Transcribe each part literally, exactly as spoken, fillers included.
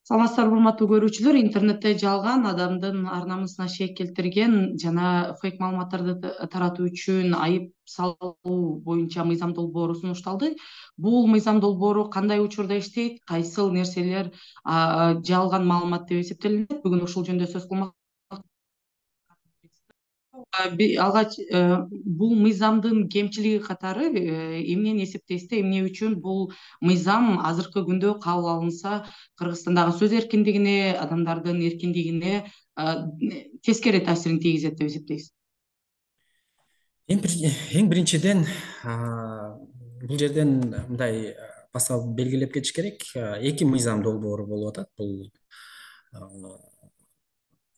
Саламатсыздарбы, урматтуу көрүүчүлөр. Интернетте жалган, адамдын ар намысына шек келтирген жана фейк маалыматтарды таратуу үчүн айып салуу боюнча мыйзам долбоору сунушталды. Бул мыйзам долбоору кандай учурда иштейт, кайсыл нерселер жалган маалымат деп эсептелинет? Бүгүн ушул жөнүндө сөз кылмак. Алгач бул мыйзамдын кемчилиги катары эмнени эсептейсиздер? Эмне үчүн бул мыйзам азыркы күндө кабыл алынса Кыргызстандагы сөз эркиндигине, адамдардын эркиндигине тескери таасирин тийгизет деп эсептейсиз? Эң биринчиден бул жерден мындай басалып белгилеп кетиш керек. Эки мыйзам долбоору болуп атат. Бул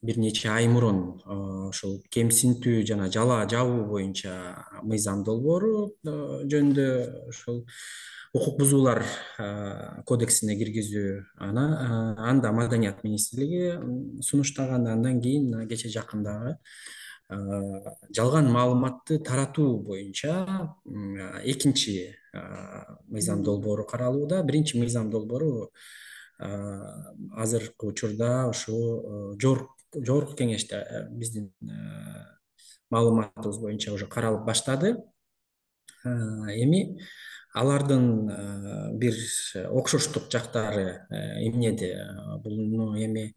бир нече ай мурун ушул кемсинтүү жана жала жабуу боюнча мыйзам долбоору жөнүндө ушул укук бузуулар кодексине киргизүү аны анда Маданият министрлиги сунуштаган. Андан кийин кече жакындагы жалган маалыматты таратуу боюнча экинчи мыйзам долбоору каралууда. Биринчи мыйзам долбоору азыркы учурда ушул жогорку кеңеште биздин маалыматыбыз боюнча уже каралып баштады. Эми алардын бир окшоштук жактары эмнеде? Бул эми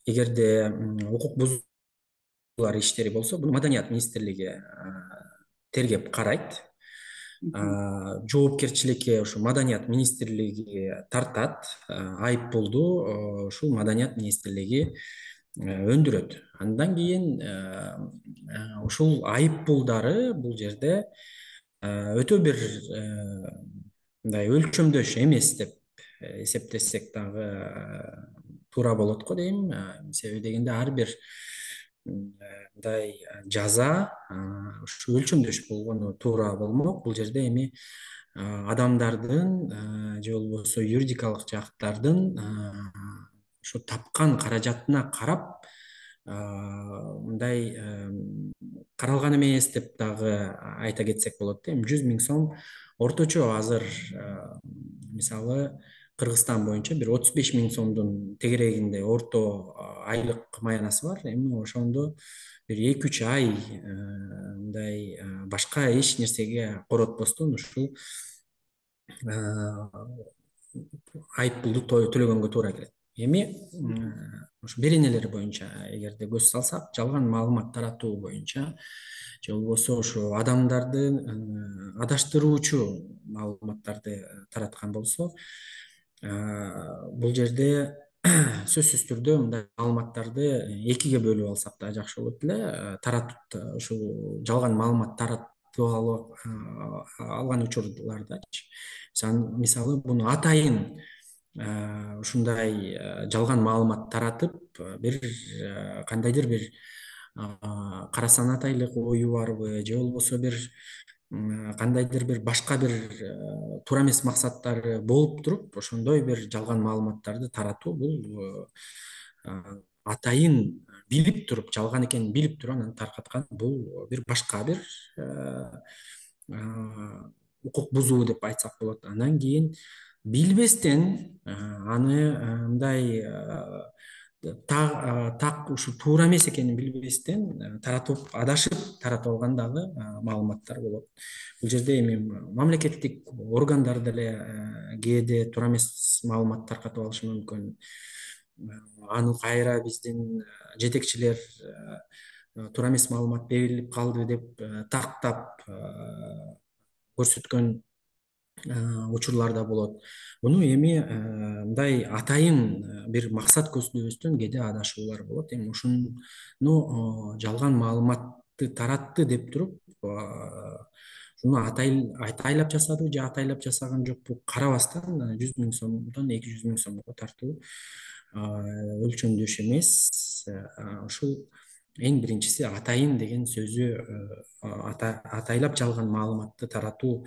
эгерде укук бузуулар иштери болсо, буну Маданият министрлиги тергеп карайт. Жоопкерчиликке ушу Маданият министрлиги тартат. Айып пулду ушул Маданият министрлиги өндүрөт. Андан кийин ушул айып пулдары бул жерде өтө бир мындай өлчөмдөш эмес деп эсептесек дагы туура болот го дейм. Себеби дегенде ар бир мындай жаза ушу өлчөмдөш болгону туура болмок. Бул жерде эми адамдардын же болбосо юридикалык жактардын ушу тапкан каражатына карап мындай каралган эмес деп дагы айта кетсек болот да. Эми жүз миң сом орточо азыр мисалы Кыргызстан боюнча бир отуз беш миң сомдун тегерегинде орто айлык маянасы бар. Эми ошондо бир эки үч ай мындай башка эч нерсеге коротпостон ушул айып пулду төлөгөнгө туура келет. Эми ушу беренелер боюнча эгерде көз салсак, жалган маалымат таратуу боюнча же болбосо ушу адамдарды адаштыруучу маалыматтарды тараткан болсо, бул жерде сөзсүз түрдө мындай маалыматтарды экиге бөлүп алсак да жакшы болот эле. Таратып ушул жалган маалымат таратып алган учурлардачы, мисалы буну атайын ушундай жалган маалымат таратып, бир кандайдыр бир кара санатайлык ою барбы, же болбосо бир кандайдыр бир башка бир туура эмес максаттары болуп туруп, ошондой бир жалган маалыматтарды таратуу бул атайын билип туруп, жалган экенин билип туруп анан таркаткан, бул бир башка бир укук бузуу деп айтсак болот. Андан кийин билбестен аны мындай так ушу туура эмес экенин билбестен таратып, адашып таратып алган дагы маалыматтар болот. Бул жерде эми мамлекеттик органдар деле кээде туура эмес маалымат таркатып алышы мүмкүн. Аны кайра биздин жетекчилер туура эмес маалымат берилип калды деп тактап көрсөткөн учурлар да болот. Муну эми мындай атайын бир максат көздөбөстөн кээде адашуулар болот. Эми ушуну жалган маалыматты таратты деп туруп, ушуну атайлап жасадыбы же атайлап жасаган жокпу карабастан жүз миң сомдон эки жүз миң сомго тартуу өлчөмдөш эмес. Ушул эң биринчиси атайын деген сөзү атайлап жалган маалыматты таратуу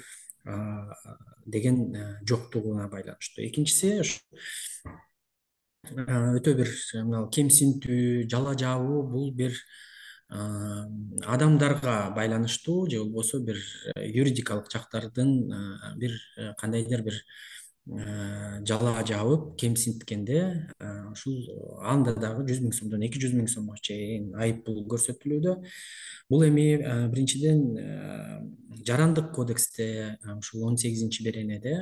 деген жоктугуна байланыштуу. Экинчиси өтө бир кемсинтүү, жала жабуу, бул бир адамдарга байланыштуу же болбосо бир юридикалык жактардын бир кандайдыр бир жала жабып кемсинткенде ушул анда дагы жүз миң сомдон эки жүз миң сомго чейин айып пул көрсөтүлүүдө. Бул эми биринчиден жарандык кодексте ушул он сегизинчи беренеде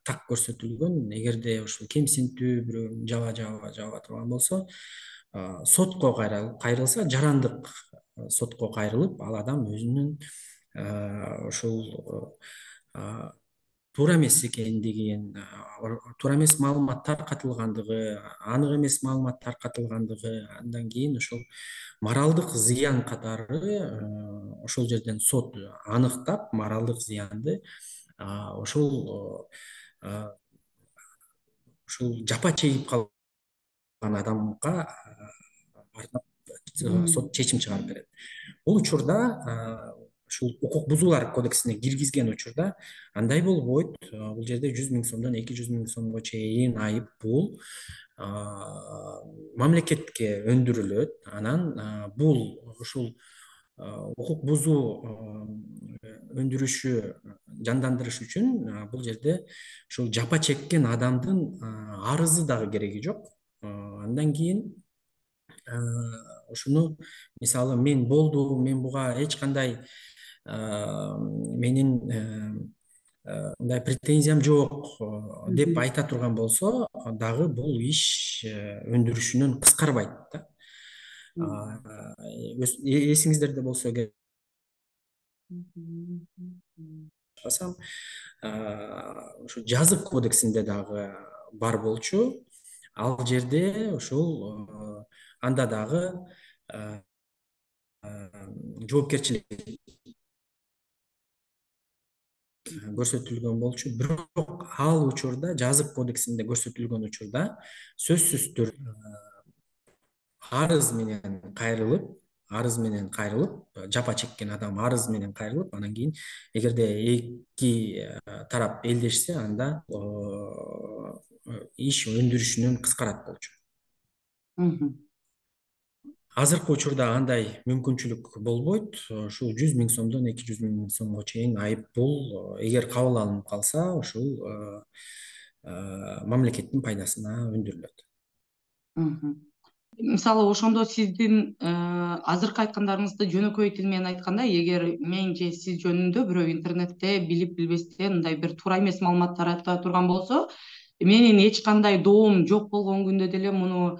так көрсөтүлгөн. Эгерде ушул кемсинтүү бирөөнү жаба жаба жаба турган болсо, сотко кайрылса, жарандык сотко кайрылып, ал адам өзүнүн ушул туура эмес экендигин, туура эмес маалымат таркатылгандыгы, анык эмес маалымат таркатылгандыгы, андан кийин ушул моралдык зыян катары ошол жерден сот аныктап, моралдык зыянды ошол ушул жапа чегип калган адамга сот чечим чыгарып берет. Бул учурда ушул укук бузуулар кодексине киргизген учурда андай болбойт. Бул жерде жүз миң сомдон эки жүз миң сомго чейин айып пул мамлекетке өндүрүлөт. Анан бул ушул укук бузуу өндүрүшү жандандырыш үчүн бул жерде ушул жапа чеккен адамдын арызы дагы кереги жок. Андан кийин ушуну мисалы мен болду, мен буга эч кандай менин мындай претензиям жок деп айта турган болсо дагы бул иш өндүрүшүнөн кыскарбайт да. Эсиңиздерде болсо эгер ушу жазык кодексинде дагы бар болчу. Ал жерде ушул анда дагы жоопкерчилик көрсөтүлгөн болчу. Бирок ал учурда, жазык кодексинде көрсөтүлгөн учурда сөзсүз түрдө арыз менен кайрылып, арыз менен кайрылып, жапа чеккен адам арыз менен кайрылып, анан кийин эгерде эки тарап элдешсе, анда иш өндүрүшүнөн кыскарат болчу. Азыркы учурда андай мүмкүнчүлүк болбойт. Ушул жүз миң сомдон эки жүз миң сомго чейин айып пул эгер кабыл алынып калса, ушул мамлекеттин пайдасына өндүрүлөт. Мисалы ошондо сиздин азыркы айткандарыңызды жөнөкөй тил менен айтканда, эгер мен же сиз жөнүндө бирөө интернетте билип билбестен мындай бир туура эмес маалымат тарата турган болсо, менин эч кандай доом жок болгон күндө деле муну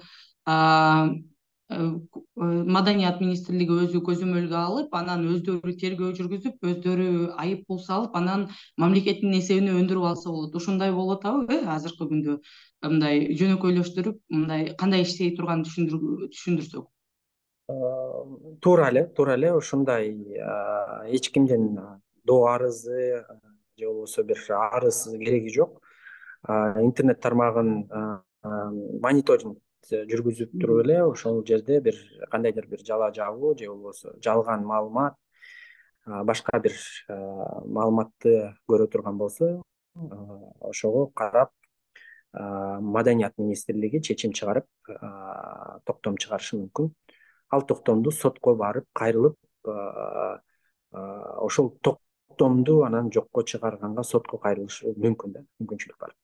Маданият министрлиги өзү көзөмөлгө алып, анан өздөрү тергөө жүргүзүп, өздөрү айып пул салып, анан мамлекеттин эсебине өндүрүп алса болот. Ушундай болуп атабы, э, азыркы күндө мындай жөнөкөйлөштүрүп, мындай кандай иштей турганын түшүндүрсөк. Туура эле, туура эле ушундай эч кимдин доо арызы же болбосо бир арыз кереги жок. Интернет тармагын мониторинг жүргүзүп туруп эле ошол жерде бир кандайдыр бир жала жабуу же болбосо жалган маалымат, башка бир маалыматты көрө турган болсо, ошого карап Маданият министрлиги чечим чыгарып, токтом чыгарышы мүмкүн. Ал токтомду сотко барып кайрылып, ошол токтомду анан жокко чыгарганга сотко кайрылыш мүмкүн да, мүмкүнчүлүк бар.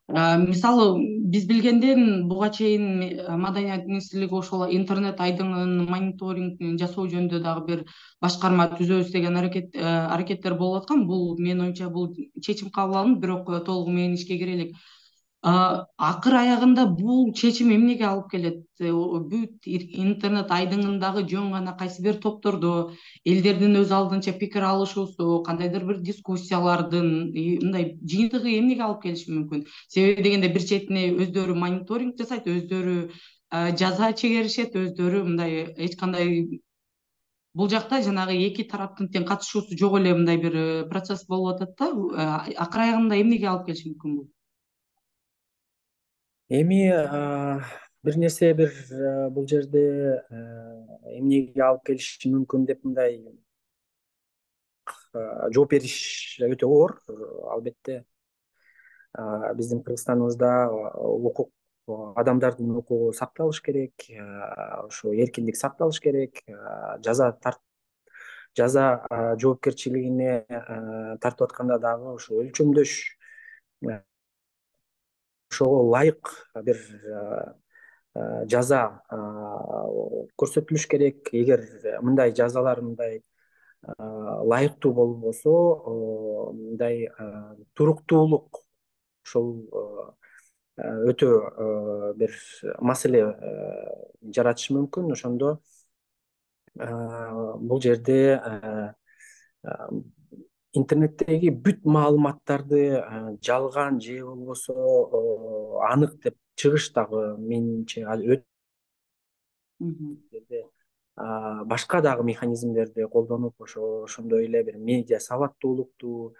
Мисалы биз билгенден буга чейин Маданият министрлиги ошол интернет айдыңын мониторинг жасоо жөнүндө дагы бир башкарма түзөбүз деген аракеттер болуп аткан. Бул менин оюмча бул чечим кабыл алынып, бирок толугу менен ишке кире элек. Акыр аягында бул чечим эмнеге алып келет? Бүт интернет айдыңындагы жөн гана кайсы бир топтордо элдердин өз алдынча пикир алышуусу, кандайдыр бир дискуссиялардын мындай жыйынтыгы эмнеге алып келиши мүмкүн? Себеби дегенде бир четине өздөрү мониторинг жасайт, өздөрү жаза чегеришет, өздөрү мындай эч кандай бул жакта жанагы эки тараптын тең катышуусу жок эле мындай бир процесс болуп атат да. Акыр аягында эмнеге алып келиши мүмкүн бул? Эми бир нерсе бир бул жерде эмнеге алып келиши мүмкүн деп мындай жооп бериш өтө оор. Албетте биздин Кыргызстаныбызда укук, адамдардын укугу сакталыш керек, ошо эркиндик сакталыш керек. Жаза тарт жаза жоопкерчилигине тартып атканда дагы ошо өлчөмдөш ошого ылайык бир жаза көрсөтүлүш керек. Эгер мындай жазалар мындай ылайыктуу болбосо, мындай туруктуулук ушул өтө бир маселе жаратышы мүмкүн. Ошондо бул жерде интернеттеги бүт маалыматтарды жалган же болбосо анык деп чыгыш дагы менимче башка дагы механизмдерди колдонуп, ошо ошондой эле бир медиа сабаттуулукту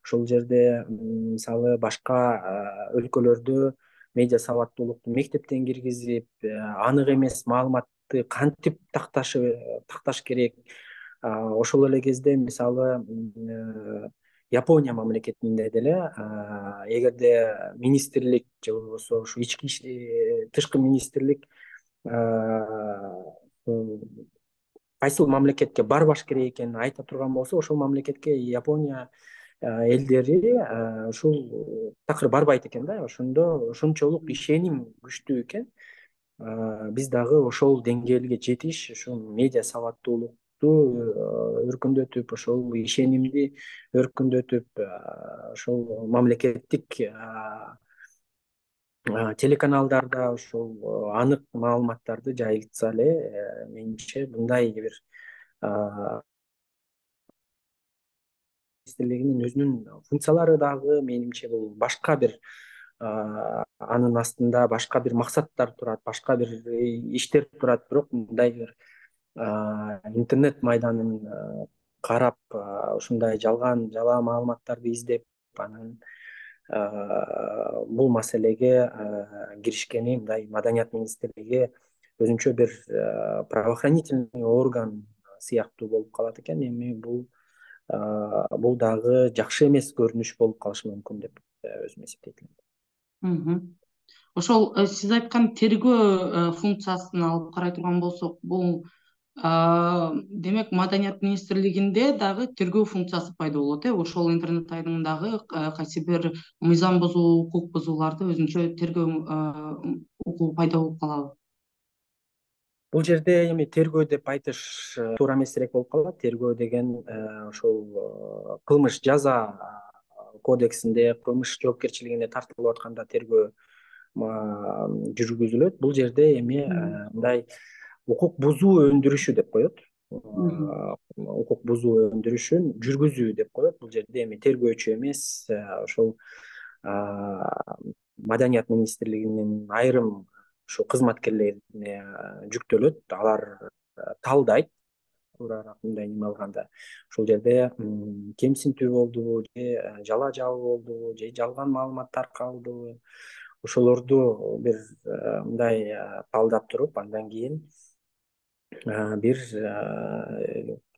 ошол жерде мисалы башка өлкөлөрдө медиа сабаттуулукту мектептен киргизип, анык эмес маалыматты кантип такташы такташ керек. Ошол эле кезде мисалы Япония мамлекетинде деле эгерде министрлик же болбосо ушу ички тышкы министрлик кайсыл мамлекетке барбаш керек экенин айта турган болсо, ошол мамлекетке Япония элдери ушул такыр барбайт экен да. Ошондо ошончолук ишеним күчтүү экен. Биз дагы ошол деңгээлге жетиш, ушул медиа сабаттуулукту өркүндөтүп, ошол ишенимди өркүндөтүп, ошол мамлекеттик телеканалдарда ошол анык маалыматтарды жайылтса эле, менимче мындай бир министрлигинин өзүнүн функциялары дагы менимче бул башка бир анын астында башка бир максаттар турат, башка бир иштер турат. Бирок мындай бир интернет майданын карап, ушундай жалган жалаа маалыматтарды издеп, анан бул маселеге киришкени мындай Маданият министрлиги өзүнчө бир правоохранительный орган сыяктуу болуп калат экен. Эми бул бул дагы жакшы эмес көрүнүш болуп калышы мүмкүн деп өзүм эсептейт элем. Ошол сиз айткан тергөө функциясын алып карай турган болсок, бул демек Маданият министрлигинде дагы тергөө функциясы пайда болот, э? Ошол интернет айдыңындагы кайсы бир мыйзам бузуу, укук бузууларды өзүнчө тергөө укугу пайда болуп калабы? Бул жерде эми тергөө деп айтыш туура эмесирээк болуп калат. Тергөө деген ошол кылмыш жаза кодексинде, кылмыш жоопкерчилигине тартылып атканда тергөө жүргүзүлөт. Бул жерде эми мындай укук бузуу өндүрүшү деп коет. Укук бузуу өндүрүшүн жүргүзүү деп коет. Бул жерде эми тергөөчү эмес, ошол Маданият министрлигинин айрым ушу кызматкерлерине жүктөлөт. Алар талдайт, туурараак мындай неме алганда. Ошол жерде кемсинтүү болдубу, же жалаа жабуу болдубу, же жалган маалымат таркалдыбы, ошолорду бир мындай талдап туруп, андан кийин бир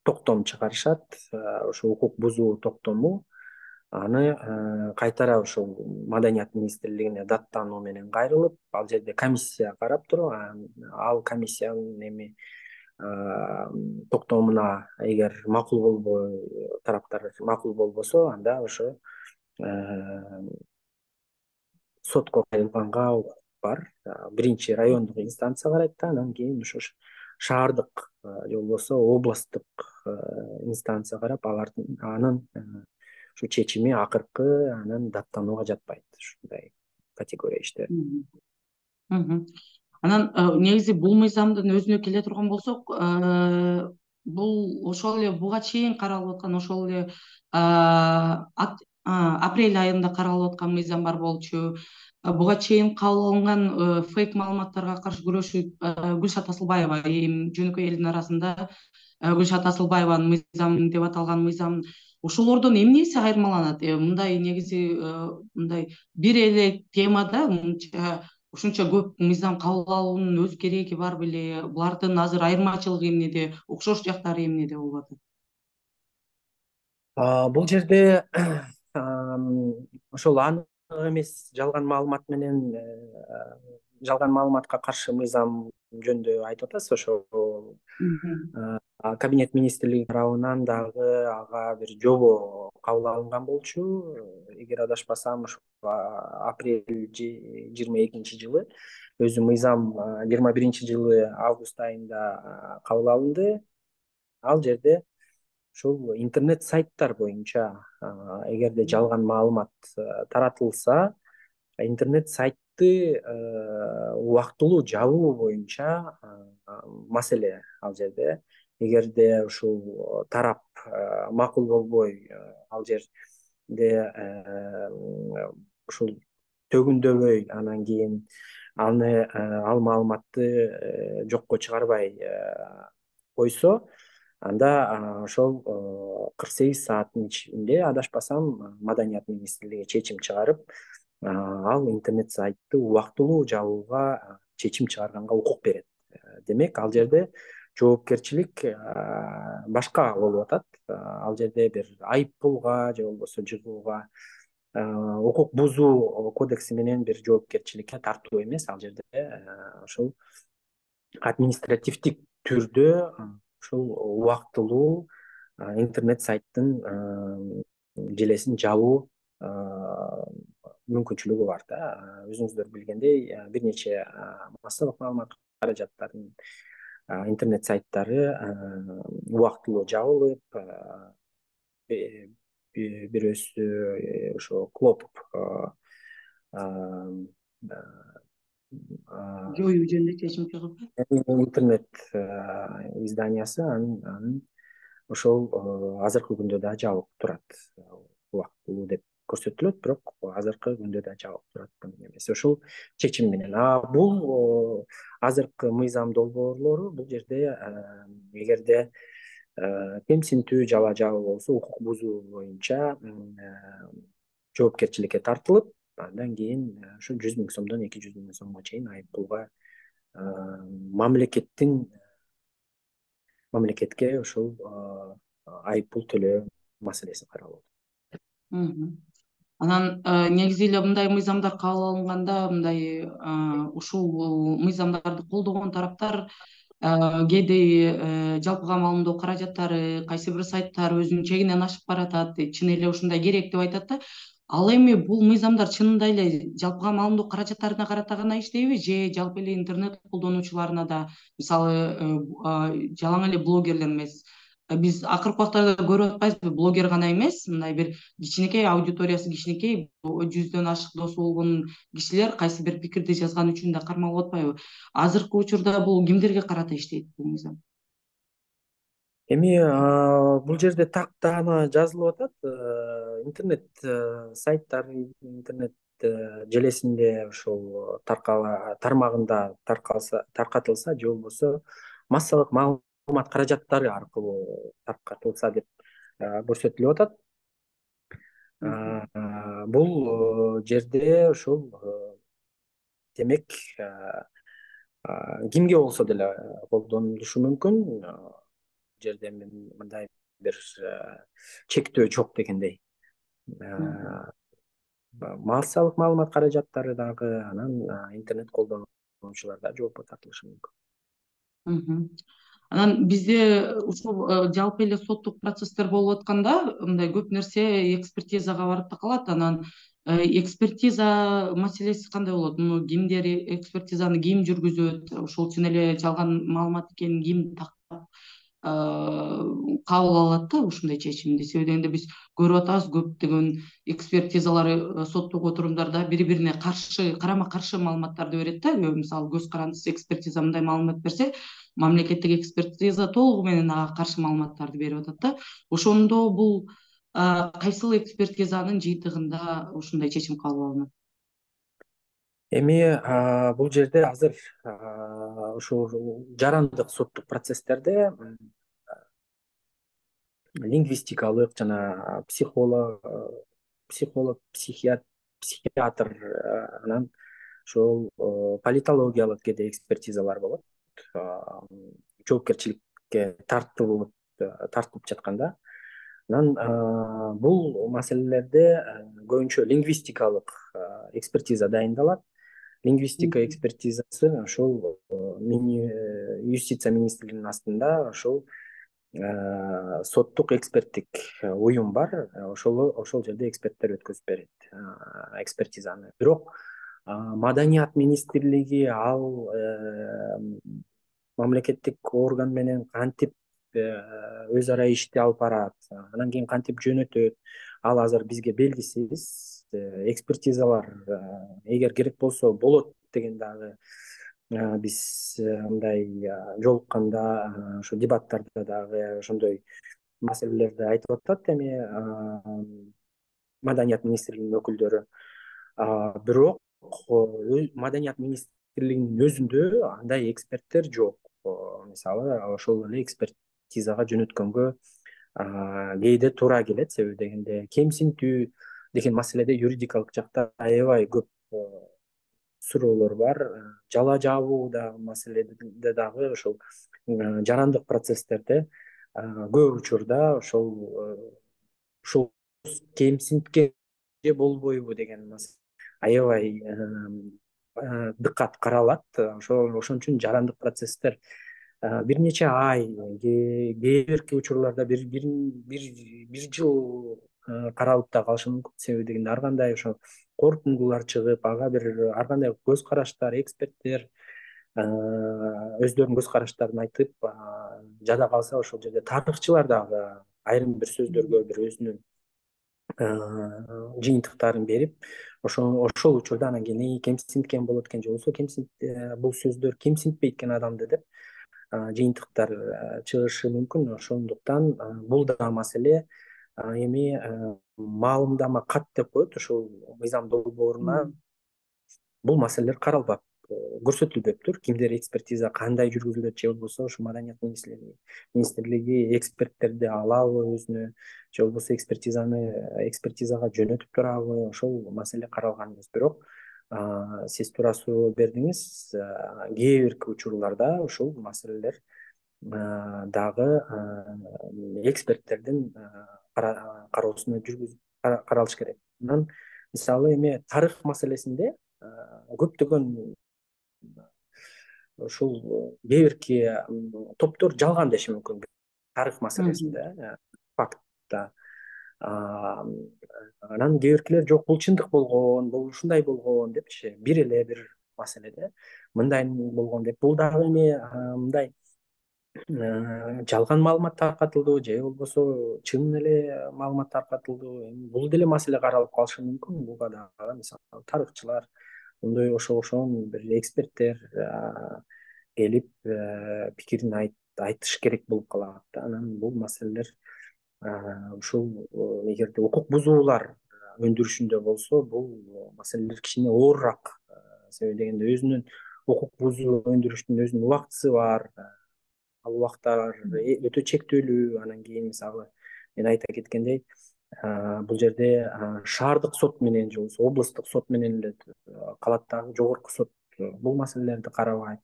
токтом чыгарышат. Ошо укук бузуу токтому. Аны кайтара ошол Маданият министрлигине даттануу менен кайрылып, ал жерде комиссия карап туруп, ал комиссиянын эми токтомуна эгер макул болбой, тараптар макул болбосо, анда ошо сотко кайрылганга укук бар. Биринчи райондук инстанция карайт да, анан кийин ошо шаардык же болбосо областтык инстанция карап, алардын анын ушу чечими акыркы анан даттанууга жатпайт. Ушундай категория иштер. Анан негизи бул мыйзамдын өзүнө келе турган болсок, бул ошол эле буга чейин каралып аткан, ошол эле апрель айында каралып аткан мыйзам бар болчу. Буга чейин кабыл алынган фейк маалыматтарга каршы күрөшүү Гүлшат Асылбаева, эми жөнөкөй элдин арасында Гүлшат Асылбаеванын мыйзам деп аталган мыйзам, ошолордон эмнеси айырмаланат? Мындай негизи мындай бир эле темада ушунча көп мыйзам кабыл алуунун өз кереги бар беле? Булардын азыр айырмачылыгы эмнеде, окшош жактары эмнеде болуп атат? Бул жерде ошол анык эмес жалган маалымат менен жалган маалыматка каршы мыйзам жөнүндө айтып атасыз. Ошол Кабинет министрлиги тарабынан дагы ага бир жобо кабыл алынган болчу. Эгер адашпасам, ушу апрель жыйырма экинчи жылы, өзү мыйзам жыйырма биринчи жылы август айында кабыл алынды. Ал жерде ушул интернет сайттар боюнча эгерде жалган маалымат таратылса, интернет сайтты убактылуу жабуу боюнча маселе ал жерде. Эгерде ушул тарап макул болбой, ал жерде ушул төгүндөбөй, анан кийин аны ал маалыматты жокко чыгарбай койсо, анда ошол кырк сегиз сааттын ичинде, адашпасам, Маданият министрлиги чечим чыгарып, ал интернет сайтты убактылуу жабууга чечим чыгарганга укук берет. Демек, ал жерде жоопкерчилик башка болуп атат. Ал жерде бир айып пулга же болбосо жыгууга, укук бузуу кодекси менен бир жоопкерчиликке тартуу эмес, ал жерде ошол административдик түрдө ушул убактылуу интернет сайттын желесин жабуу мүмкүнчүлүгү бар да. Өзүңүздөр билгендей, бир нече массалык маалымат каражаттарынын интернет сайттары убактылуу жабылып, бирөөсү ошо Клоп жоюу жөнүндө чечим чыгып, интернет изданиясы анын ошол азыркы күндө да жабык турат. Убактылуу деп көрсөтүлөт, бирок азыркы күндө да жабык турат бунун эмеси ушул чечим менен. А бул азыркы мыйзам долбоорлору, бул жерде эгерде кемсинтүү жала жабуу болсо, укук бузуу боюнча жоопкерчиликке тартылып, андан кийин ушу жүз миң сомдон эки жүз миң сомго чейин айып пулга мамлекеттин мамлекетке ушул айып пул төлөө маселеси каралып атат. Анан негизи эле мындай мыйзамдар кабыл алынганда, мындай ушул мыйзамдарды колдогон тараптар кээде жалпыга маалымдоо каражаттары, кайсы бир сайттар өзүнүн чегинен ашып баратат, чын эле ушундай керек деп айтат да. Ал эми бул мыйзамдар чынында эле жалпыга маалымдоо каражаттарына карата гана иштейби, же жалпы эле интернет колдонуучуларына да, мисалы жалаң эле блогерлер эмес, биз акыркы убактарда көрүп атпайбызбы, блогер гана эмес, мындай бир кичинекей аудиториясы кичинекей, жүздөн ашык досу болгон кишилер кайсы бир пикирди жазган үчүн да кармалып атпайбы? Азыркы учурда бул кимдерге карата иштейт бул мыйзам? Эми бул жерде так даана жазылып атат. Интернет сайттар, интернет желесинде ошол тармагында таркатылса, же болбосо массалык маалымат каражаттары аркылуу таркатылса деп көрсөтүлүп атат. Бул жерде ошол демек кимге болсо деле колдонулушу мүмкүн. Жерде мындай бир чектөө жок дегендей. Массалык маалымат каражаттары дагы, анан интернет колдонуучулар да жоопко тартылышы мүмкүн. Анан бизде ушул жалпы эле соттук процесстер болуп атканда, мындай көп нерсе экспертизага барып да калат. Анан экспертиза маселеси кандай болот? Муну кимдер экспертизаны ким жүргүзөт? Ушул чын эле жалган маалымат экенин ким тактап кабыл алат да ушундай чечимди? Себеби дегенде биз көрүп атабыз, көптөгөн экспертизалар соттук отурумдарда бири бирине каршы, карама каршы маалыматтарды берет да. Мисалы, көз карандысыз экспертиза мындай маалымат берсе, мамлекеттик экспертиза толугу менен ага каршы маалыматтарды берип атат да. Ошондо бул кайсыл экспертизанын жыйынтыгында ушундай чечим кабыл алынат? Эми бул жерде азыр ушул жарандык соттук процесстерде лингвистикалык жана психолог, психолог, психиатр, анан ошол политологиялык кээде экспертизалар болот. Жоопкерчиликке тартылып тартылып жатканда, анан бул маселелерде көбүнчө лингвистикалык экспертиза дайындалат. Лингвистика экспертизасы ошол юстиция министрлигинин астында ошол соттук эксперттик уюм бар. Ошол ошол жерде эксперттер өткөзүп берет экспертизаны. Бирок Маданият министрлиги ал мамлекеттик орган менен кантип өз ара ишти алып барат, анан кийин кантип жөнөтөт, ал азыр бизге белгисиз. Экспертизалар эгер керек болсо болот деген дагы биз мындай жолукканда, ошо дебаттарда дагы ошондой маселелерди айтып атат эми Маданият министрлигинин өкүлдөрү. Бирок Маданият министрлигинин өзүндө андай эксперттер жок. Мисалы ошол эле экспертизага жөнөткөнгө кээде туура келет, себеби дегенде кемсинтүү деген маселеде юридикалык жакта аябай көп суроолор бар. Жала жабуу да маселеде дагы ошол жарандык процесстерде көп учурда ошол ушул кемсинткен же болбойбу деген аябай дыкат каралат. Ошол ошон үчүн жарандык процесстер бир нече ай, кээ бирки учурларда бир бир жыл каралып да калышы мүмкүн. Себеби дегенде ар кандай ошо корутундулар чыгып, ага бир ар кандай көз караштар, эксперттер өздөрүнүн көз караштарын айтып, жада калса ошол жерде тарыхчылар дагы айрым бир сөздөргө бир өзүнүн жыйынтыктарын берип, ошол ошол учурда анан кийин кемсинткен болот экен же болбосо кемсин бул сөздөр кемсинтпейт экен адамды деп жыйынтыктар чыгышы мүмкүн. Ошондуктан бул да маселе. Эми маалымдама кат деп коет ошол мыйзам долбооруна бул маселелер каралбап, көрсөтүлбөптүр. Кимдер экспертиза кандай жүргүзүлөт, же болбосо ошо Маданият министрлиги эксперттерди алабы өзүнө, же болбосо экспертизаны экспертизага жөнөтүп турабы, ошол маселе каралган эмес. Бирок сиз туура суроо бердиңиз, кээ бирки учурларда ушул маселелер дагы эксперттердин кароосуна жүргүзүп каралыш керек. Анан мисалы эми тарых маселесинде көптөгөн ушул кээ бирки топтор жалган деши мүмкүн тарых маселесинде, фактта. Анан кээ биркилер жок, бул чындык болгон, бул ушундай болгон депчи, бир эле бир маселеде мындай болгон деп. Бул дагы эми мындай жалган маалымат таркатылды же болбосо чын эле маалымат таркатылды, бул деле маселе каралып калышы мүмкүн. Буга дагы мисалы тарыхчылар, мындай ошо ошон бир эксперттер келип пикирин айтыш керек болуп калат. Анан бул маселелер ушул эгерде укук бузуулар өндүрүшүндө болсо, бул маселелер кичине оорураак. Себеби дегенде өзүнүн укук бузуу өндүрүштүн өзүнүн убактысы бар. Ал убактар өтө чектүүлүү. Анан кийин мисалы мен айта кеткендей, бул жерде шаардык сот менен же болбосо областтык сот менен эле калат дагы, жогорку сот бул маселелерди карабайт.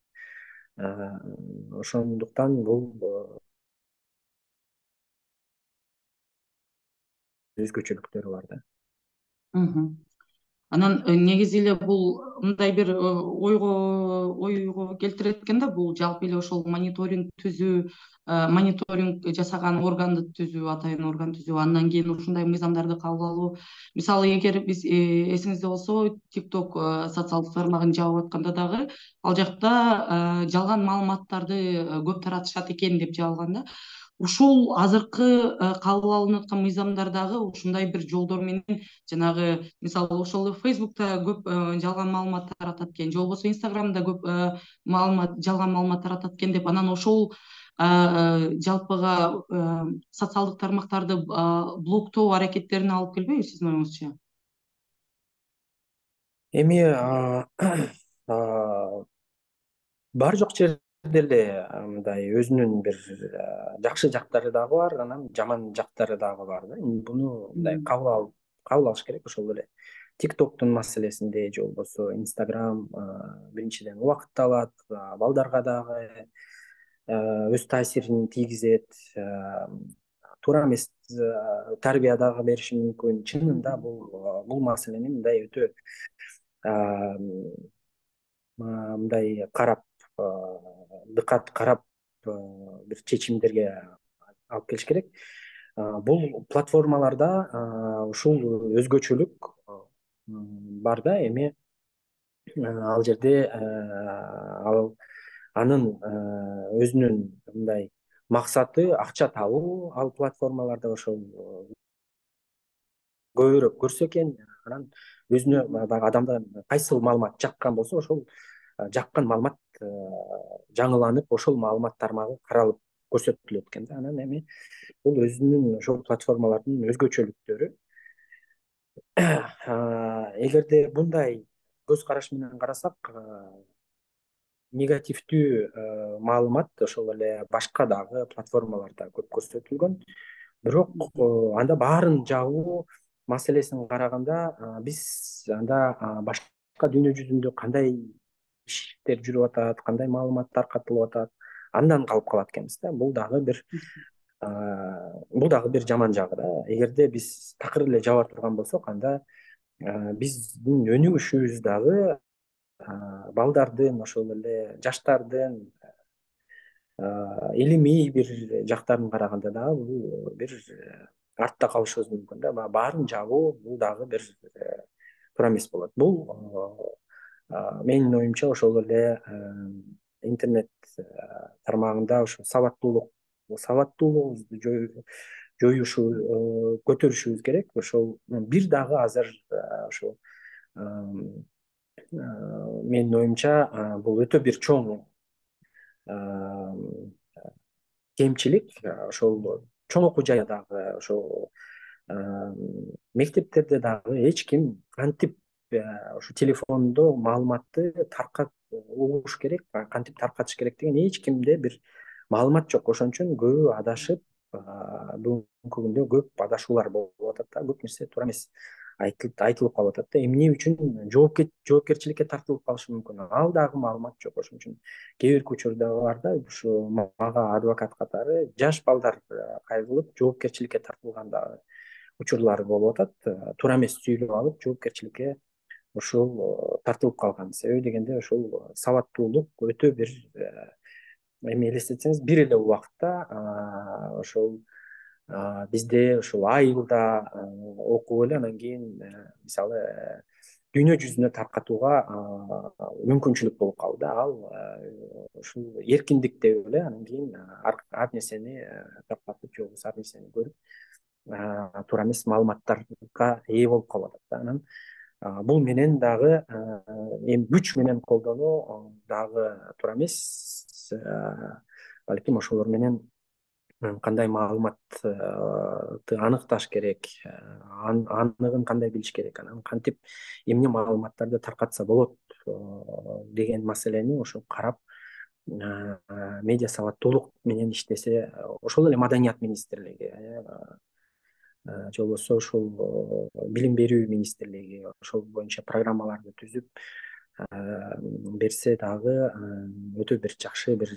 Ошондуктан бул өзгөчөлүктөрү бар да. Анан негизи эле бул мындай бир ойго ойго келтирет экен да, бул жалпы эле ошол мониторинг түзүү, мониторинг жасаган органды түзүү, атайын орган түзүү, андан кийин ушундай мыйзамдарды кабыл алуу. Мисалы эгер биз эсиңизде болсо, TikTok социалдык тармагын жабып атканда дагы ал жакта жалган маалыматтарды көп таратышат экен деп жабылган да. Ушул азыркы кабыл алынып аткан мыйзамдар дагы ушундай бир жолдор менен, жанагы мисалы ошол Facebook'та көп жалган маалымат таратат экен, же болбосо Instagram'да көп маалымат жалган маалымат таратат экен деп, анан ошол жалпыга социалдык тармактарды блоктоо аракеттерине алып келбейби сиздин оюңузча? Эми бар жок жерде эле мындай өзүнүн бир жакшы жактары дагы бар, анан жаман жактары дагы бар да. Буну мындай кабыл алып кабыл алыш керек. Ошол эле TikTok'тун маселесинде же болбосо Instagram биринчиден убакытты алат, балдарга дагы өз таасирин тийгизет, туура эмес тарбия дагы бериши мүмкүн. Чынында бул бул маселени мындай өтө мындай карап, дыкат карап бир чечимдерге алып келиш керек. Бул платформаларда ушул өзгөчөлүк бар да. Эми ал жерде ал анын өзүнүн мындай максаты акча табуу. Ал платформаларда ошол көбүрөөк көрсө экен, анан өзүнө баягы адамдар кайсыл маалымат жаккан болсо, ошол жаккан маалымат жаңыланып, ошол маалымат тармагы каралып көрсөтүлөт экен да. Анан эми бул өзүнүн ошол платформалардын өзгөчөлүктөрү. Эгерде мындай көз караш менен карасак, негативдүү маалымат ошол эле башка дагы платформаларда көп көрсөтүлгөн. Бирок анда баарын жабуу маселесин караганда, биз анда башка дүйнө жүзүндө кандай иштер жүрүп атат, кандай маалымат таркатылып атат, андан калып калат экенбиз да. Бул дагы бир бул дагы бир жаман жагы да. Эгерде биз такыр эле жаба турган болсок, анда биздин өнүгүшүбүз дагы балдардын, ошол эле жаштардын илимий бир жактарын караганда дагы бул бир артта калышыбыз мүмкүн да. Баарын жабуу бул дагы бир туура эмес болот. Бул менин оюмча ошол эле интернет тармагында ошо сабаттуулук сабаттуулугубузду жоюшу, көтөрүшүбүз керек. Ошол бир дагы азыр ошол менин оюмча бул өтө бир чоң кемчилик. Ошол чоң окуу жайдагы ошол мектептерде дагы эч ким кантип ошо телефондо маалыматты таркат угуш керек, кантип таркатыш керек деген эч кимде бир маалымат жок. Ошон үчүн көбү адашып, бүгүнкү күндө көп адашуулар болуп атат да. Көп нерсе туура эмес айтылып калып атат да. Эмне үчүн жоопкерчиликке тартылып калышы мүмкүн, ал дагы маалымат жок. Ошон үчүн кээ бир учурда бар да, ушу мага адвокат катары жаш балдар кайрылып жоопкерчиликке тартылган дагы учурлар болуп атат. Туура эмес сүйлөп алып жоопкерчиликке ушул тартылып калган. Себеби дегенде ошол сабаттуулук өтө бир, эми элестетсеңиз, бир эле убакытта ошол бизде ушул айылда окуп эле анан кийин мисалы дүйнө жүзүнө таркатууга мүмкүнчүлүк болуп калды да. Ал ушул эркиндик деп эле анан кийин ар нерсени таркатып, же болбосо ар нерсени көрүп туура эмес маалыматтарга ээ болуп калып атат да. Анан бул менен дагы эми күч менен колдонуу дагы туура эмес. Балким ошолор менен кандай маалыматты аныкташ керек, аныгын кандай билиш керек, анан кантип эмне маалыматтарды таркатса болот деген маселени ошо карап, медиа сабаттуулук менен иштесе, ошол эле Маданият министрлиги, же болбосо ушул Билим берүү министрлиги ошол боюнча программаларды түзүп берсе дагы өтө бир жакшы, бир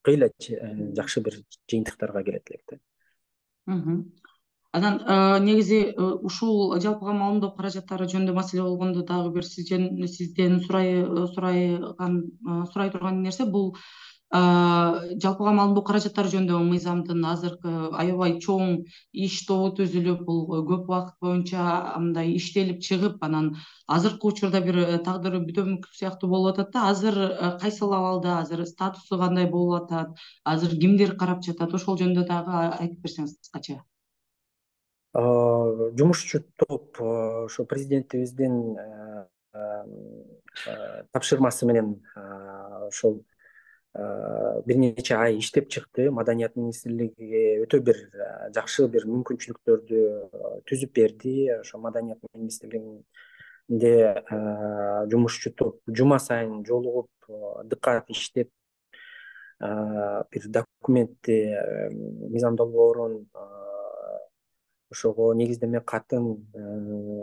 кыйла жакшы бир жыйынтыктарга келет элек да. Анан негизи ушул жалпыга маалымдоо каражаттары жөнүндө маселе болгондо дагы бир сизден сурайган сурай турган нерсе бул жалпыга маалымдоо каражаттары жөнүндө мыйзамдын азыркы аябай чоң иш тобу түзүлүп, бул көп убакыт боюнча мындай иштелип чыгып, анан азыркы учурда бир тагдыры бүтөмүк сыяктуу болуп атат да. Азыр кайсыл абалда, азыр статусу кандай болуп атат, азыр кимдер карап жатат, ошол жөнүндө дагы айтып берсеңиз кыскача. Жумушчу топ ошо президентибиздин тапшырмасы менен ошол бир нече ай иштеп чыкты. Маданият министрлиги өтө бир жакшы бир мүмкүнчүлүктөрдү түзүп берди. Ошо Маданият министрлигинде жумушчу топ жума сайын жолугуп, дыккат иштеп, бир документти, мыйзам долбоорун, ошого негиздеме катын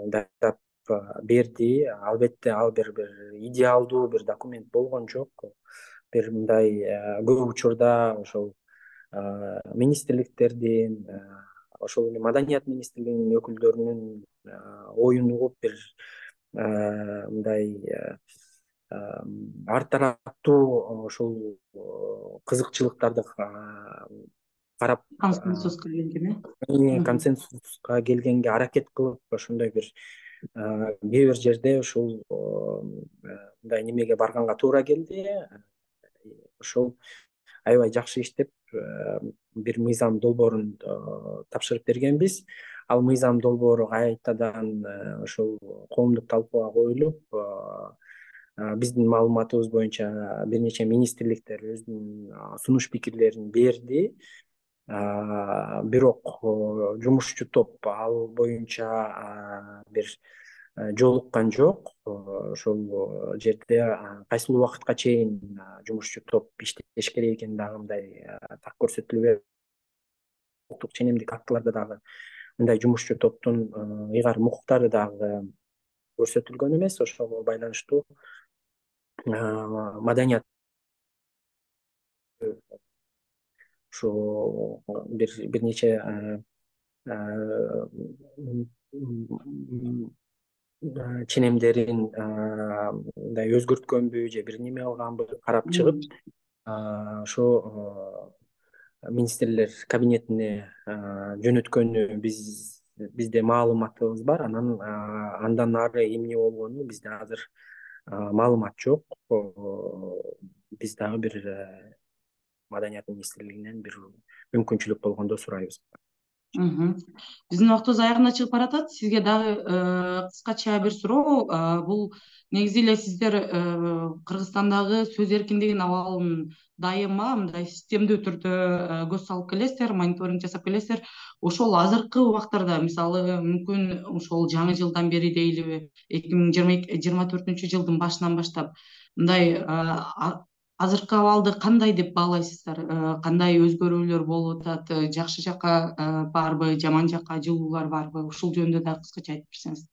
даярдап берди. Албетте ал бир бир идеалдуу бир документ болгон жок. Бир мындай көп учурда ошол министрликтердин, ошол эле Маданият министрлигинин өкүлдөрүнүн оюн угуп, бир мындай ар тараптуу ошол кызыкчылыктарды карап консенсуска келгене консенсуска келгенге аракет кылып ошондой бир кээ бир жерде ушул мындай немеге барганга туура келди. Ошол аябай жакшы иштеп бир мыйзам долбоорун тапшырып бергенбиз. Ал мыйзам долбоору кайтадан ошол коомдук талкууга коюлуп, биздин маалыматыбыз боюнча бир нече министрликтер өзүнүн сунуш пикирлерин берди. Бирок жумушчу топ ал боюнча бир жолуккан жок. Ошол жерде кайсыл убакытка чейин жумушчу топ иштеш керек экени дагы мындай так көрсөтүлбөйт. Улуттук ченемдик актыларда дагы мындай жумушчу топтун ыйгарым укуктары дагы көрсөтүлгөн эмес. Ошого байланыштуу маданият ушу бир бир нече ченемдерин мындай өзгөрткөнбү же бир неме кылганбы карап чыгып, ошо министрлер кабинетине жөнөткөнү биз бизде маалыматыбыз бар. Анан андан ары эмне болгону бизде азыр маалымат жок. Биз дагы бир Маданият министрлигинен бир мүмкүнчүлүк болгондо сурайбыз. Биздин убактыбыз аягына чыгып баратат. Сизге дагы кыскача бир суроо. Бул негизи эле сиздер Кыргызстандагы сөз эркиндигинин абалын дайыма мындай системдүү түрдө көз салып келесиздер, мониторинг жасап келесиздер. Ошол азыркы убактарда, мисалы, мүмкүн ошол жаңы жылдан бери дейлиби, эки миң жыйырма төртүнчү жылдын башынан баштап мындай азыркы абалды кандай деп баалайсыздар? Кандай өзгөрүүлөр болуп атат? Жакшы жакка барбы, жаман жакка жылуулар барбы? Ушул жөнүндө дагы кыскача айтып берсеңиз.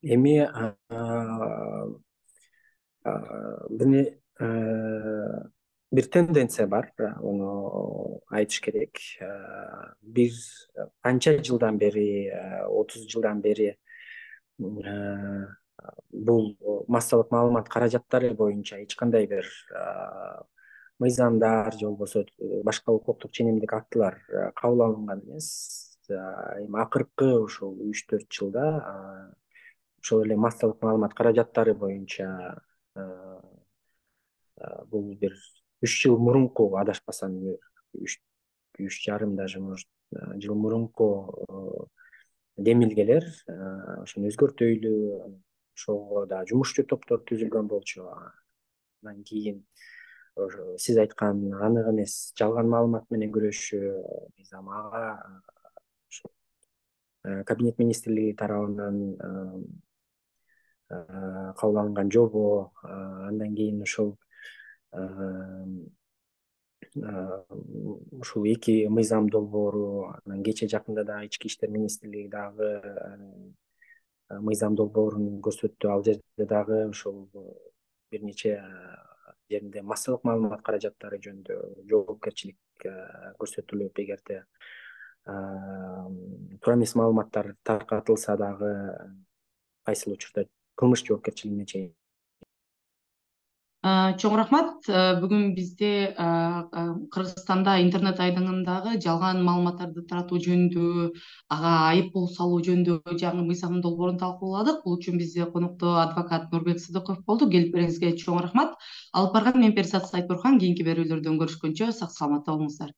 Эми бир тенденция бар, муну айтыш керек. Бир канча жылдан бери, отуз жылдан бери бул массалык маалымат каражаттары боюнча эч кандай бир мыйзамдар же болбосо башка укуктук ченемдик актылар кабыл алынган эмес. Эми акыркы ушул үч төрт жылда ошол эле массалык маалымат каражаттары боюнча бул бир үч жыл мурунку, адашпасам, үч үч жарым даже может жыл мурунку демилгелер ошону өзгөртөйлү, ошого да жумушчу топтор түзүлгөн болчу. Андан кийин сиз айткан анык эмес жалган маалымат менен күрөшүү мыйзам, ага кабинет министрлиги тарабынан кабыл алынган жобо, андан кийин ушул ушул эки мыйзам долбоору, анан кечээ жакында дагы ички иштер министрлиги дагы мыйзам долбоорун көрсөттү. Ал жерде дагы ушул бир нече жеринде массалык маалымат каражаттары жөнүндө жоопкерчилик көрсөтүлүп, эгерде туура эмес маалыматтар таркатылса дагы кайсыл учурда кылмыш жоопкерчилигине чейин. Чоң рахмат. Бүгүн бизде Кыргызстанда интернет айдыңындагы жалган маалыматтарды таратуу жөнүндө, ага айып пул салуу жөнүндө жаңы мыйзам долбоорун талкууладык. Бул үчүн бизде конокто адвокат Нурбек Сыдыков болду. Келип бериңизге чоң рахмат. Алып барган мен Перизат Сайтбурхан. Кийинки берүүлөрдөн көрүшкөнчө сак саламатта болуңуздар.